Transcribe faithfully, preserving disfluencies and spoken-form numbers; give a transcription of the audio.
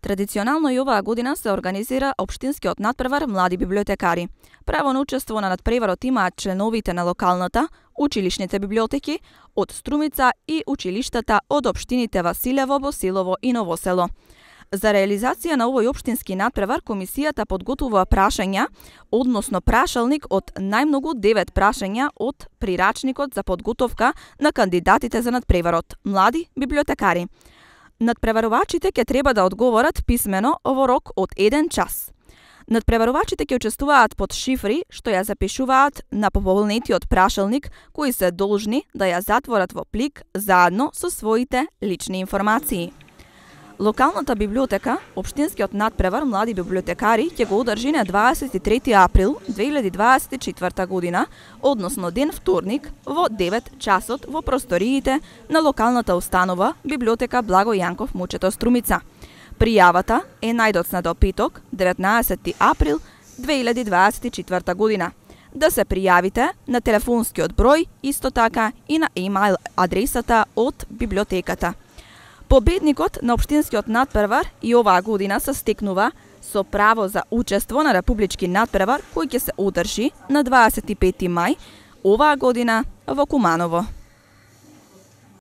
Традиционално и оваа година се организира општинскиот надпревар млади библиотекари. Право на учество на надпреварот имаат членовите на локалната, училишните библиотеки од Струмица и училиштата од општините Василево, Босилово и Новосело. За реализација на овој општински надпревар, комисијата подготвува прашања, односно прашалник од најмногу девет прашања од прирачникот за подготовка на кандидатите за надпреварот млади библиотекари. Надпреварувачите ќе треба да одговорат писмено во рок од еден час. Надпреварувачите ќе учествуваат под шифри што ја запишуваат на пополнетиот прашалник, кои се должни да ја затворат во плик заедно со своите лични информации. Локалната библиотека, општинскиот надпревар млади библиотекари ќе го одржи на дваесет и трети април две илјади дваесет и четврта година, односно ден вторник во девет часот во просториите на локалната установа Библиотека Благо Јанков Мучето Струмица. Пријавата е најдоцна до петок, деветнаесети април две илјади дваесет и четврта година. Да се пријавите на телефонскиот број, исто така и на имејл адресата од библиотеката. Победникот на општинскиот надпревар и оваа година се стекнува со право за учество на републички надпревар кој ќе се одржи на дваесет и пети мај оваа година во Куманово.